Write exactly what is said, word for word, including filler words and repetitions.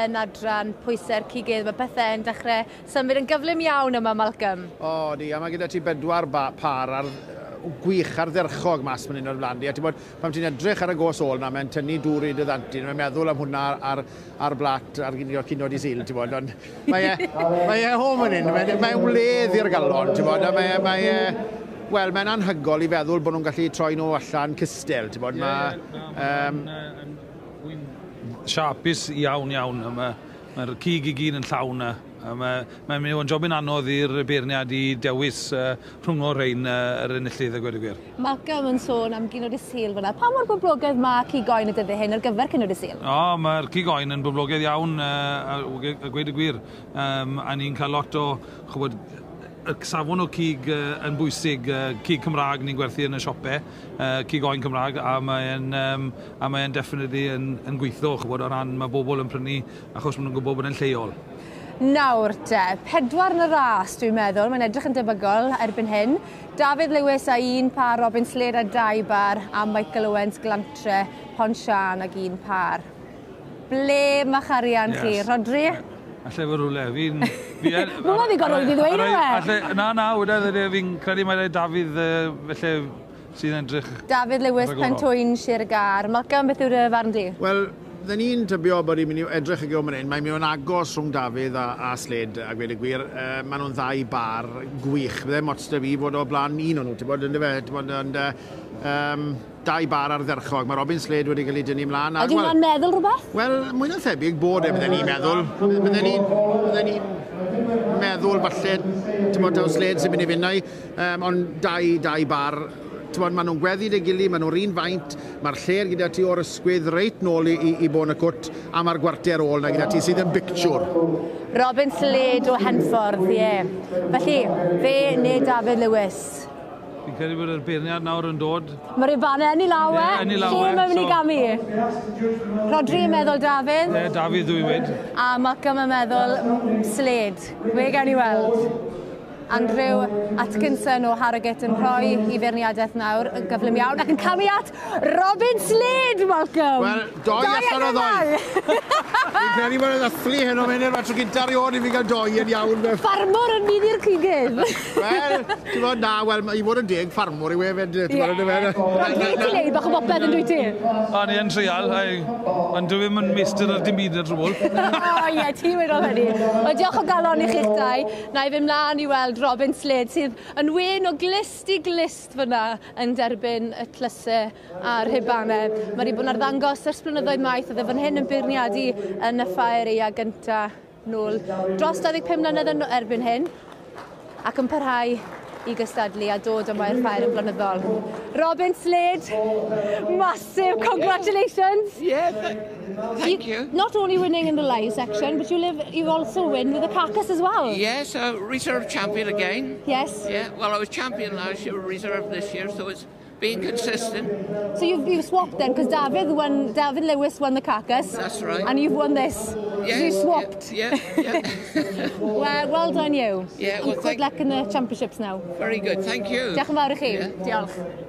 Yn adran pwysau'r cigydd, mae pethau yn dechrau symud yn gyflym iawn yma, Malcolm. O, di, a mae gyda ti bedwar par ar gwych ardderchog mas fan hyn o'r blaen di. A ti'n bod, pan ti'n edrych ar y gos ôl na, mae'n tynnu dŵr i dy ddanti. Mae'n meddwl am hwnna ar, ar blat, ar cinio dydd Sul, ti'n bod. Ond mae e, mae e home fan hyn, mae'n mae wledd i'r galon, ti'n bod. A mae e, mae e, wel, mae'n anhygoel i feddwl bod nhw'n gallu troi nhw allan cystel, ti'n bod. Mae, yeah, um, siapus iawn iawn. Mae'r mae cig i gyd yn llawn. Mae'n mae mynd i fod yn jobyn anodd i'r beirniad i dewis uh, rhwng o'r rhain uh, yr enillydd a gweud y gwir. Malcolm yn sôn am ginio dydd Sul fyna. Pa mor boblogaidd mae cig oen y dyddiau hyn ar gyfer cinio dydd Sul? O, mae'r cig oen yn boblogaidd iawn uh, a gweud y gwir. Um, a ni'n cael lot o, chwbod, y safon o cig uh, yn bwysig, uh, cig Cymraeg ni'n gwerthu yn y siopau, uh, cig oen Cymraeg, a mae'n um, a mae'n definitely yn, yn gweithio, chwbod, o ran mae bobl yn prynu achos maen nhw'n gwybod bod yn lleol. Nawr te, pedwar yn y ras dwi'n meddwl, mae'n edrych yn debygol erbyn hyn. Dafydd Lewis a un par, Robin Slade a dau bar, a Michael Owens Glantre, Pontsian ag un par. Ble mae'ch arian yes. chi, Rodri? Alle fod rhywle. Fi'n... Mwna ddigon rwydd i ddweud yw e? Na, na, weda, fi'n credu mai Dafydd, felly, sydd yn edrych. Dafydd Lewis, Pentwyn, Sir Gâr. Malcolm, beth yw'r farn di? Wel, dyn ni'n tybio bod i'n mynd i edrych y gyda hyn. Mae'n mynd yn agos rhwng Dafydd a, a Slade, a gweud y gwir. Uh, maen nhw'n ddau bar gwych. Bydde mots da fi fod o blaen un o'n nhw, ti'n bod, yn fe? Ti'n bod, ond, um, dau bar ardderchog. Mae Robin Slade wedi cael ei dynnu ymlaen. Ydy hwnna'n meddwl rhywbeth? Wel, mwy na thebyg bod e, bydden ni'n meddwl. Bydden ni'n bydden ni'n meddwl falle, ti'n bod, taw Slade sy'n mynd i fynd um, ond dau, dau bar, ti'n bod, maen nhw'n gweddu dy gili, maen nhw'r un faint, mae'r lle'r gyda ti o'r ysgwydd reit nôl i, i, i bon y cwt, a mae'r gwarter ôl na gyda ti sydd yn bictiwr. Robin Slade o Henffordd, ie. Yeah. Felly, fe neu Dafydd Lewis? Fi'n credu bod yr beirniad nawr yn dod. Mae'r rhubanau yn ei law e. Yn ei law e. Lle mae'n mynd i gamu? Rodri yn meddwl Dafydd. Ie, Dafydd dwi wedi. A Malcolm yn meddwl Slade. We gawn ni weld. Andrew Atkinson o Harrogate yn rhoi i feirniadaeth nawr yn gyflym iawn ac yn camu at Robin Slade, Malcolm! Wel, doi allan o ddoi. Fi'n credu bod yn ddathlu heno mewn i'r tro gynta erioed i fi gael doi yn iawn. Ffarmwr yn mynd i'r cigydd. Wel, ti'n bod, na, wel, i fod yn deg, ffarmwr i we fed. Ie. Rodri, ti'n neud bach o bopeth yn dwyt ti? O, ni yn treial, ond dwi ddim yn meistr ar dim byd ar trwbl. O, ie, ti wedodd hynny. Wel, diolch o galon i chi'ch dau. Na i fynd mlaen i weld Robin Slade sydd yn wen o glust i glust fyna yn derbyn y tlysau a'r rhubanau. Mae wedi bod yn arddangos ers blynyddoedd maith, oedd e fan hyn yn beirniadu yn y ffair aeaf gynta nôl dros dau ddeg pum mlynedd yn erbyn hyn ac yn parhau i gystadlu a dod yma i'r ffair yn flynyddol. Robin Slade, massive congratulations! Yeah, th thank you. you. Not only winning in the live section, but you live, you also win with the carcass as well. Yes, uh, reserve champion again. Yes. Yeah, well, I was champion last year, reserve this year, so it's being consistent. So you've, you've swapped then, because Dafydd won, Dafydd Lewis won the carcass. That's right. And you've won this. Yeah, so you swapped. Yeah, yeah. yeah. well, well done you. Yeah, well, and good luck in the championships now. Very good, thank you. Diolch yn fawr i chi. Yeah. Diolch.